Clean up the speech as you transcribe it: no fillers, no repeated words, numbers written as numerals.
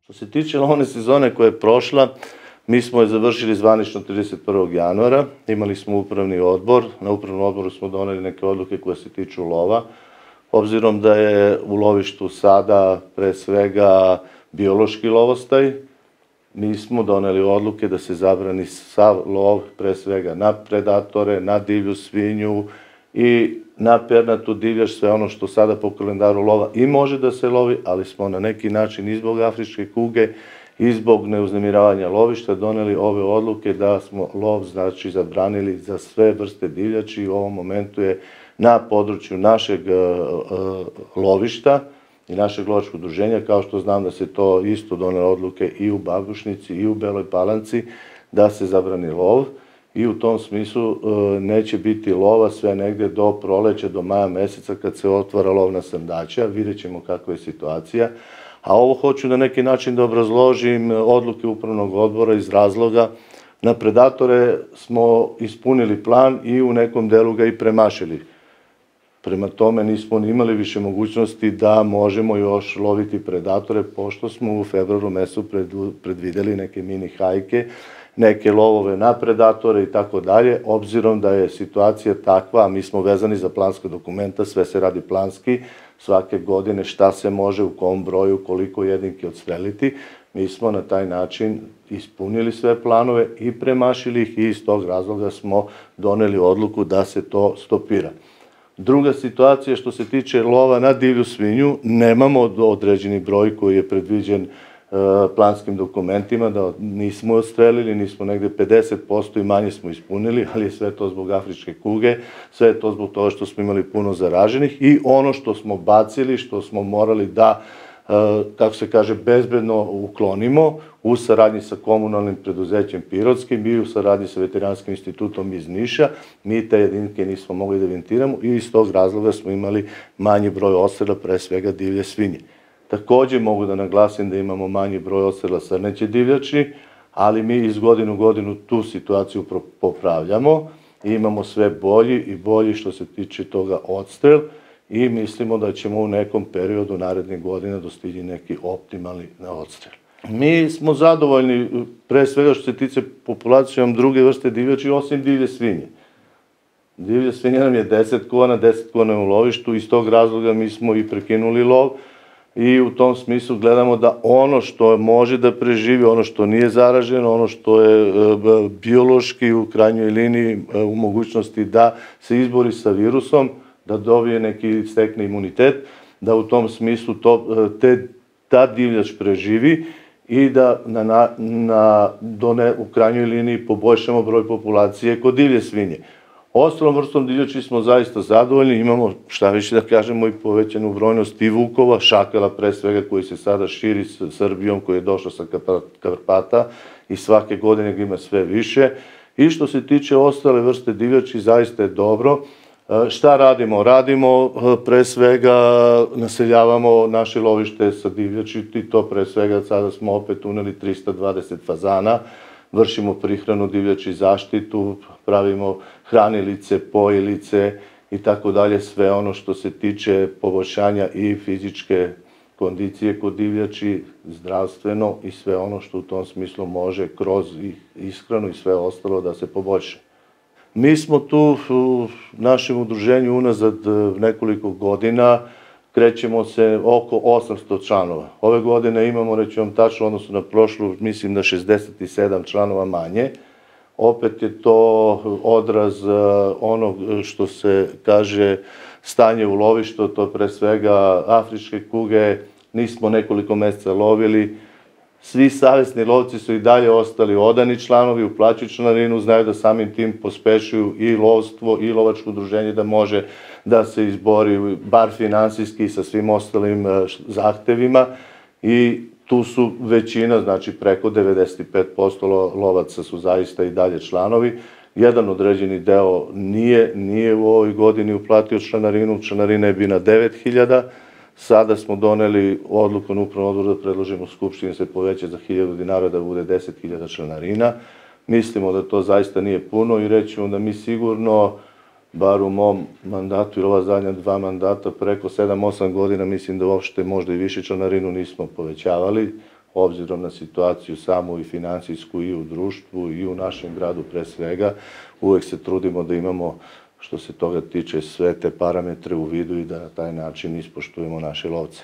Što se tiče lovne sezone koja je prošla, mi smo je završili zvanično 31. januara, imali smo upravni odbor, na upravnom odboru smo doneli neke odluke koje se tiču lova, obzirom da je u lovištu sada pre svega biološki lovostaj, mi smo doneli odluke da se zabrani sav lov, pre svega na predatore, na divlju svinju i na pernatu divljač, sve ono što sada po kalendaru lova i može da se lovi, ali smo na neki način i zbog afričke kuge i zbog neuznemiravanja lovišta doneli ove odluke da smo lov znači zabranili za sve vrste divljači. U ovom momentu je na području našeg lovišta i našeg lovačkog udruženja, kao što znam da se to isto donele odluke i u Babušnici i u Beloj Palanci, da se zabrani lov i u tom smislu neće biti lova sve negde do proleća, do maja meseca kad se otvara lovna srndaća, vidjet ćemo kakva je situacija. A ovo hoću na neki način da obrazložim odluke upravnog odbora iz razloga na predatore smo ispunili plan i u nekom delu ga i premašili. Prema tome nismo ni imali više mogućnosti da možemo još loviti predatore, pošto smo u februaru mesecu predvideli neke mini hajke, neke lovove na predatore i tako dalje, obzirom da je situacija takva, a mi smo vezani za planska dokumenta, sve se radi planski, svake godine šta se može, u kom broju, koliko jedinke odstreliti, mi smo na taj način ispunili sve planove i premašili ih i iz tog razloga smo doneli odluku da se to stopira. Druga situacija što se tiče lova na divlju svinju, nemamo određeni broj koji je predviđen planskim dokumentima, da nismo odstrelili, nismo negde 50% i manje smo ispunili, ali je sve to zbog afričke kuge, sve je to zbog toga što smo imali puno zaraženih i ono što smo bacili, što smo morali da, kako se kaže, bezbedno uklonimo u saradnji sa komunalnim preduzećem Pirotskim i u saradnji sa Veterinarskim institutom iz Niša, mi te jedinke nismo mogli da evidentiramo i iz tog razloga smo imali manji broj odstrela, pre svega divlje svinje. Takođe mogu da naglasim da imamo manji broj odstrela srneće divljači, ali mi iz godine u godinu tu situaciju popravljamo i imamo sve bolji i bolji što se tiče toga odstrel i mislimo da ćemo u nekom periodu narednih godina dostići neki optimalni odstrel. Mi smo zadovoljni pre svega što se tiče populacijom druge vrste divljači osim divlje svinje. Divlja svinja nam je 10 kona, 10 kona je u lovištu, iz tog razloga mi smo i prekinuli lov i u tom smislu gledamo da ono što može da preživi, ono što nije zaraženo, ono što je biološki u krajnjoj liniji u mogućnosti da se izbori sa virusom, da dobije neki stekne imunitet, da u tom smislu ta divljač preživi i da u krajnjoj liniji poboljšamo broj populacije kod divlje svinje. Ostalom vrstom divljači smo zaista zadovoljni, imamo šta više da kažemo i povećanu brojnost i vukova, šakala pre svega koji se sada širi sa Srbijom, koji je došao sa Karpata i svake godine ga ima sve više. I što se tiče ostale vrste divljači, zaista je dobro. Šta radimo? Radimo pre svega, naseljavamo naše lovište sa divljači i to pre svega sada smo opet uneli 320 fazana, vršimo prihranu divljači, zaštitu, pravimo hranilice, pojilice i tako dalje, sve ono što se tiče poboljšanja i fizičke kondicije kod divljači, zdravstveno i sve ono što u tom smislu može kroz ishranu i sve ostalo da se poboljša. Mi smo tu u našem udruženju unazad nekoliko godina, krećemo se oko 800 članova. Ove godine imamo, reći vam tačno, odnosno na prošlu, mislim da 67 članova manje. Opet je to odraz onog što se kaže stanje u lovištu, to pre svega afričke kuge, nismo nekoliko meseca lovili. Svi savesni lovci su i dalje ostali odani članovi, uplaćuju članarinu, znaju da samim tim pospešuju i lovstvo i lovačko udruženje da može da se izbori bar finansijski sa svim ostalim zahtevima i tu su većina, znači preko 95% lovaca su zaista i dalje članovi. Jedan određeni deo nije u ovoj godini uplatio članarinu, članarina je bila 9.000, sada smo doneli odluku na upravnom odboru da predložimo Skupštini se poveća za 1.000 dinara da bude 10.000 članarina. Mislimo da to zaista nije puno i rećemo da mi sigurno, bar u mom mandatu ili ova zadnja 2 mandata, preko 7-8 godina, mislim da uopšte možda i više članarinu nismo povećavali. obzirom na situaciju samu i financijsku i u društvu i u našem gradu pre svega, uvek se trudimo da imamo, što se toga tiče, sve te parametre u vidu i da na taj način ispoštujemo naše lovce.